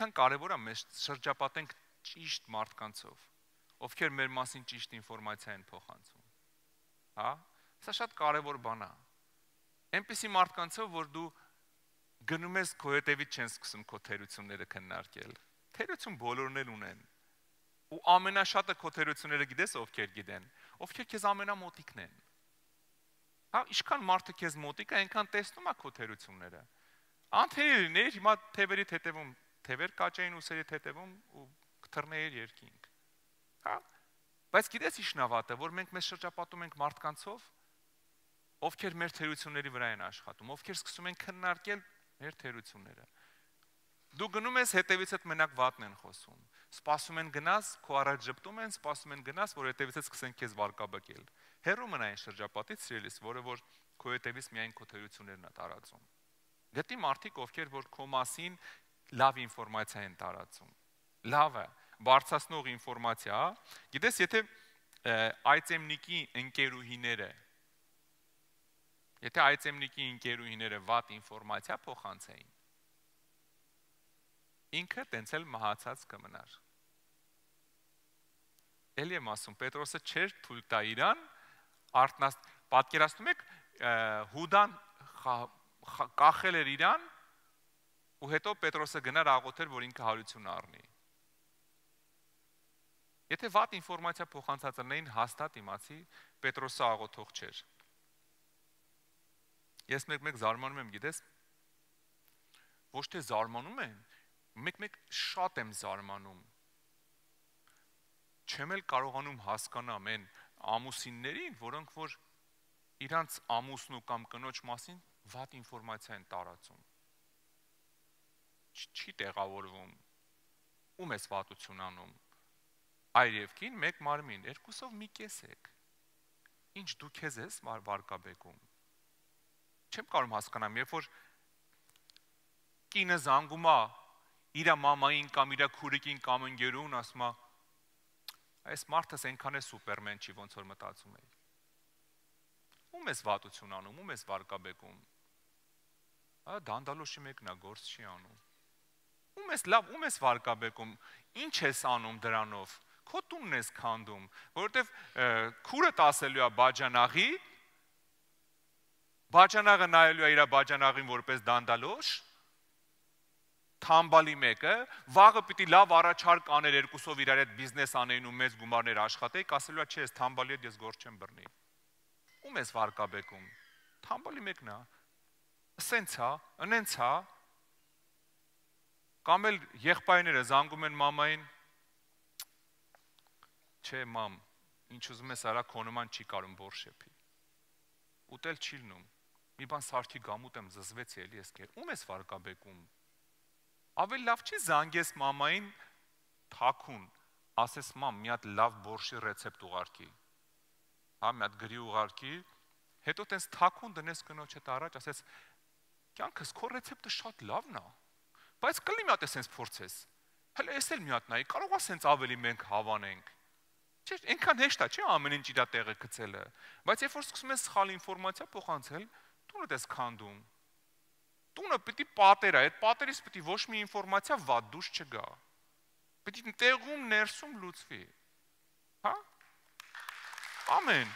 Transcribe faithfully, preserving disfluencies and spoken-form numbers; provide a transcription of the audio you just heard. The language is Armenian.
այնքան կարևոր է մեզ շրջապատենք ճիշտ մարդկանցով, ովքեր մեր մասին ճիշտ ինֆորմացիա են փոխանցում։ Հա, սա շատ կարևոր բան է։ Այնպիսի մարդկանցով, որ դու գնում ես քո հետևից չեն սկսում քո թերությունները քննարկել։ Թերություն բոլորն էլ ունեն։ Ու ամենաշատը քո թերությունները գիտես ովքեր գիտեն, ովքեր քեզ ամենամոտիկն են։ Հա, ինչքան մարդը քեզ մոտիկ է, այնքան տեսնում է քո թերությունները։ Անթերի լիներ, հիմա թևերի հետևում, թևեր կաճային ուսերի հետևում ու կթռներ երկինք։ Հա, բայց գիտես ի՞նչն է վատը, որ մենք մեզ շրջապատում ենք մարդկանցով, ովքեր մեր թերությունների վրա են աշխատում, ովքեր սկսում են քննարկել մեր թերությունները։ Դու գնում ես հետևիցդ մենակ վատն են խոսում, սպասում են գնաս, քո առաջ ժպտում են, սպասում են գնաս, որ հետևիցդ սկսեն քեզ վարկաբեկել։ Հեռու մնա այն շրջապատից, սիրելիս, որը որ քո հետևից միայն քո թերություններն է տարածում։ Գտի մարդիկ, ովքեր որ քո մասին լավ ինֆորմացիա են տարածում։ Լավը, բարձրացնող ինֆորմացիա, գիտես, եթե այծեմնիկի ընկերուհիները, եթե այծեմնիկի ընկերուհիները վատ ինֆորմացիա փոխանցեին, ինքը տենց էլ մահացած կմնար։ Էլի եմ ասում, Պետրոսը չէր թույլ տա իրան, արտնաս, պատկերացնում եք, Հուդան կախել էր իրան, ու հետո Պետրոսը գնար աղոթեր, որ ինքը հարություն առնի։ Եթե վատ ինֆորմացիա փոխանցած լինեին, հաստատ իմացի, Պետրոսը աղոթող չէր։ Ես մեկ-մեկ զարմանում եմ, գիտես, ոչ թե զարմանում եմ, մեկ-մեկ շատ եմ զարմանում։ Չեմ էլ կարողանում հասկանամ այն ամուսիններին, որոնք որ իրանց ամուսնու կամ կնոջ մասին վատ ինֆորմացիա են տարածում։ Չի տեղավորվում, ում ես վատություն անում։ Այր և կին, մեկ մարմին, երկուսով մի կես եք։ Ինչ դու քեզ ես վարկաբեկում։ Չեմ կարում հասկանամ, երբ որ կինը զանգում է իր մամային կամ իր քուրիկին կամ ընկերուն, ասում է, այս մարդս այնքան է սուպերմեն չի, ոնց որ մտածում էի։ Ում ես վատություն անում, ում ես վարկաբեկում։ Ա դանդալոշի մեկն է, գործ չի անում։ Ում ես լավ, ում ես վարկաբեկում, ինչ ես անում դրանով, քո տունն ես քանդում, որովհետև քուրդ ասելու է բաջանաղի, բաջանաղը նայելու է իր բաջանաղին որպես դանդալոշ, թամբալի մեկը, վաղը պիտի լավ առաջարկ աներ երկուսով իրար հետ բիզնես անեին ու մեծ գումարներ աշխատեիք, ասելու է չէ, ես թամբալի հետ ես գործ չեմ բռնի։ Ում ես վարկաբեկում, թամբալի մեկն է, սենց է, ընենց է, կամ էլ եղբայրները զանգում են մամային, չէ մամ, ինչ ուզում ես արա քո նման չի կարում բորշեփի, ուտել չի լնում, մի բան սարքի գամուտ եմ զզվեցի էլի ես կեր, ում ես վարկաբեկում, ավելի լավ չի զանգես մամային թաքուն, ասես մամ, մի հատ լավ բորշի ռեցեպտ ուղարկի, հա, մի հատ գրի ուղարկի, հետո տենց թաքուն դնես կնոջ հետ առաջ, ասես, կյանքս քո ռեցեպտը շատ լավն է, բայց կլի մի հատ ես սենց փորձես, հələ ես էլ մի հատ նայի, կարող է սենց ավելի մենք հավանենք, չէ, այնքան հեշտ է, չէ, ամեն ինչ իր տեղը գցելը, բայց երբ որ սկսում ես սխալ ինֆորմացիա փոխանցել, տունդ ես քանդում, տունը պիտի պատեր է, այդ պատերից պիտի ոչ մի ինֆորմացիա վատ դուրս չգա, պիտի տեղում ներսում լուծվի, հա, ամեն